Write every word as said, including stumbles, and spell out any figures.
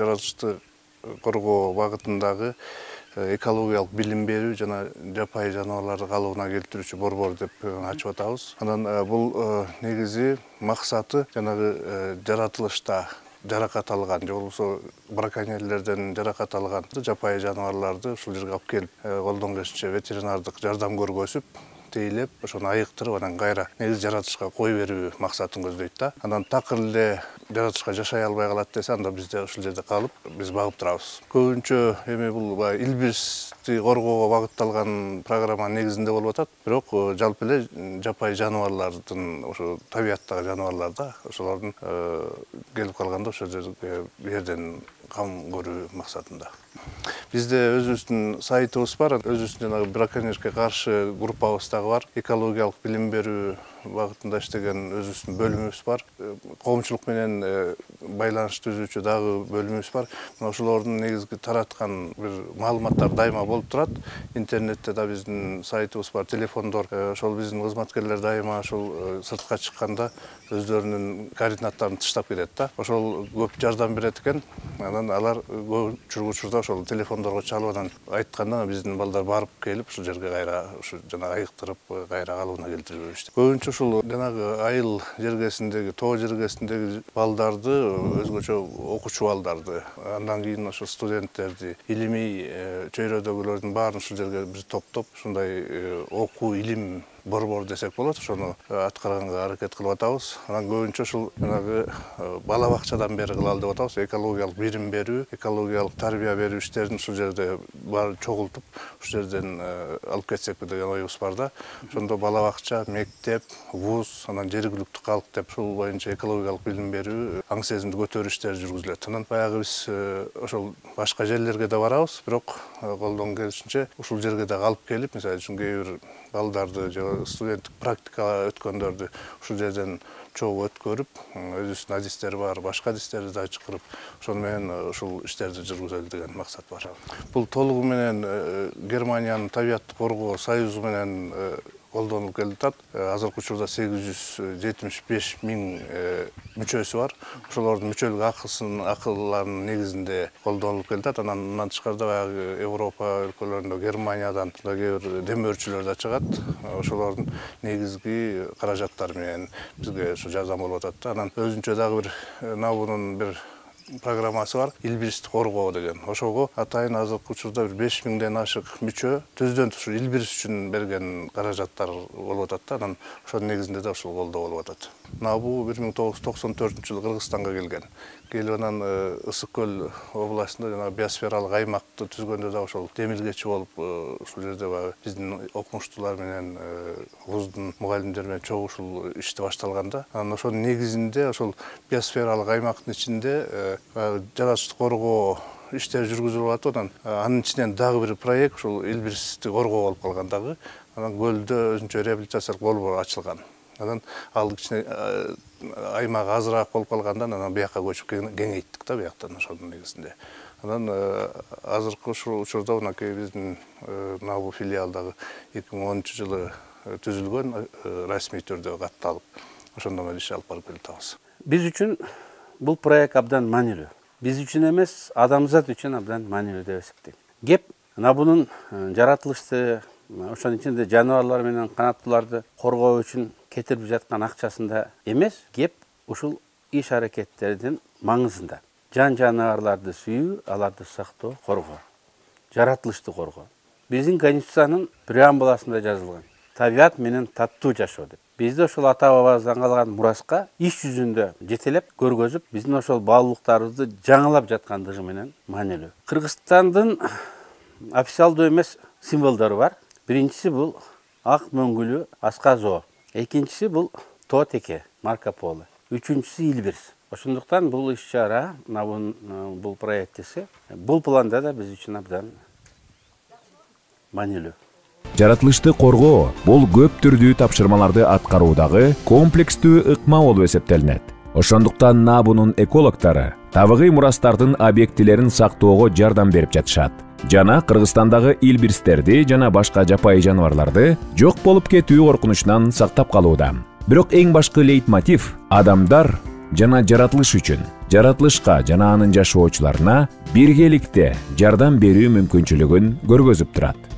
Жаратылышты коргоо багытындагы экологиялык билим берүү жана жапайы жаныбарларды калыбына келтирүүчү борбор деп ачып атабыз. Анан бул негизи максаты жанагы жаратылышта жаракат алган же болбосо браконьерлерден жаракат алган жапайы жаныбарларды ушул жерге алып келип, колдон келишинче ветеринардык жардам көргөзүп, тейлеп, ошону айыктырып, анан кайра негизи жаратылышка кой берүү максатын көздөйт да. Анан такыр эле жаратылышка жашай албай калат десе, анда бизде ушул жерде калып, биз багып турабыз. Көбүнчө эми бул баягы илбирсти коргоого багытталган программа негизинде болуп атат, бирок жалпы эле жапайы жаныбарлардын, ошо табияттагы жаныбарлар да, ошолордун келип калганда ошол жерге жерден кам көрүү максатында. Бизде өзүбүздүн сайтыбыз бар, өзүбүздүн жанагы браконьерге каршы группабыз дагы бар. Экологиялык билим берүү багытында иштеген өзүбүздүн бөлүмүбүз бар. Коомчулук менен байланыш түзүүчү дагы бөлүмүбүз бар. Мына ошолордун негизги тараткан бир маалыматтар дайыма болуп турат. Интернетте да биздин сайтыбыз бар, телефондор. Ошол биздин кызматкерлер дайыма ошол сыртка чыкканда өздөрүнүн координаттарын тыштап кетет да. Ошол көп жардам берет экен. Анан алар көпчүлүк учурда ошол телефондорго чалып анан айтканда биздин балдар барып келип ушул жерге кайра ушу жана айыктырып кайра калыбына келтирип беришти. Көбүнчө ушул жанагы айыл жергесиндеги, тоо жергесиндеги балдарды, өзгөчө окуучу балдарды, андан кийин ошо студенттерди, илимий чөйрөдөгүлөрдүн баарын ушул жерге биз топтоп, ушундай окуу илим борбор десек болот, ошону аткарганга аракет кылып атабыз. Анан көбүнчө ушул жанагы бала бакчадан бери кылалы деп атабыз. Экологиялык билим берүү, экологиялык тарбия берүү иштерин ушул жерде бар чогултуп, ушул жерден алып кетсекпи деген оюбуз бар да. Ошондо бала бакча, мектеп, вуз, анан жергиликтүү калк деп ушул боюнча экологиялык билим берүү, аң сезимди көтөрүү иштери жүргүзүлөт. Анан баягы биз ошол башка жерлерге да барабыз, бирок колдон келишинче ушул жерге да алып келип, мисалы үчүн кээ бир балдарды же студенттик практика өткөндөрдү ушул жерден чогуу өткөрүп, өзүбүздүн адистери бар, башка адистерди да чакырып, ошону менен ушул иштерди жүргүзөлү деген максат бар. Бул толугу менен Германиянын табиятты коргоо союзу менен колдонулуп келип атат. Азыркы учурда сегиз жүз жетимиш беш миң мүчөсү бар. Ошолордун мүчөлүк акысын, акылларынын негизинде колдонулуп келип атат. Анан мындан тышкарыда баягы Европа өлкөлөрүндө, Германиядан да кээ бир демөөрчүлөр да чыгат. Ошолордун негизги каражаттары менен бизге ушу жардам болуп атат да. Анан өзүнчө дагы бир набунун бир программасы бар, илбирсти коргоо деген. Ошого атайын азыркы учурда бир беш миңден ашык мүчө президент ушу илбирс үчүн берген каражаттар болуп атат да. Анан ошонун негизинде да ушул колдоо болуп атат. Набу бир миң тогуз жүз токсон төртүнчү жылы Кыргызстанга келген. Келип анан Ысык көл областында жанагы биосфералык аймакты түзгөндө да ошол демилгечи болуп, ушул жерде баягы биздин окумуштуулар менен, вуздун мугалимдери менен чогуу ушул ишти башталган да. Анан ошонун негизинде ошол биосфералык аймактын ичинде жаратылышты коргоо иштери жүргүзүлүп атат. Анан анын ичинен дагы бир проект ушул илбирсти коргоо болуп калган дагы. Анан көлдө өзүнчө реабилитациялык борбор ачылган. Анан ал кичине аймагы азыраак болуп калгандан анан бияка көчүп кеңейттик да бияктан ошонун негизинде. Анан азыркы ушул учурда мынакей биздин Набу филиалдагы эки миң онунчу жылы түзүлгөн, расмий түрдө катталып, ошондон бери иш алып барып келатабыз. Биз үчүн бул проект абдан маанилүү. Биз үчүн эмес, адамзат үчүн абдан маанилүү деп эсептейм. Кеп Набунун жаратылышты, ошонун ичинде жаныбарлар менен канаттууларды коргоо үчүн кетирип жаткан акчасында эмес, кеп ушул иш аракеттердин маңызында. Жан жаныбарларды сүйүү, аларды сактоо, коргоо. Жаратылышты коргоо. Биздин Конституциянын преамбуласында жазылган. Табият менен таттуу жашоо деп. Бизде ошол ата бабабыздан калган мураска иш жүзүндө жетелеп көргөзүп, биздин ошол баалуулуктарыбызды жаңылап жаткандыгы менен маанилүү. Кыргызстандын официалдуу эмес символдору бар. Биринчиси бул ак мөңгүлүү аска зоо. Экинчиси бул тоо теке, Марко Поло. Үчүнчүсү илбирс. Ошондуктан бул иш-чара, бул проектиси, бул планда да биз үчүн абдан маанилүү. Жаратылышты коргоо бул көп түрдүү тапшырмаларды аткаруудагы комплекстүү ыкма болуп эсептелинет. Ошондуктан Набунун экологдору табигый мурастардын объектилерин сактоого жардам берип жатышат жана Кыргызстандагы илбирстерди жана башка жапайы жаныбарларды жок болуп кетүү коркунучунан сактап калууда. Бирок эң башкы лейтмотив адамдар жана жаратылыш үчүн, жаратылышка жана анын жашоочуларына биргеликте жардам берүү мүмкүнчүлүгүн көргөзүп турат.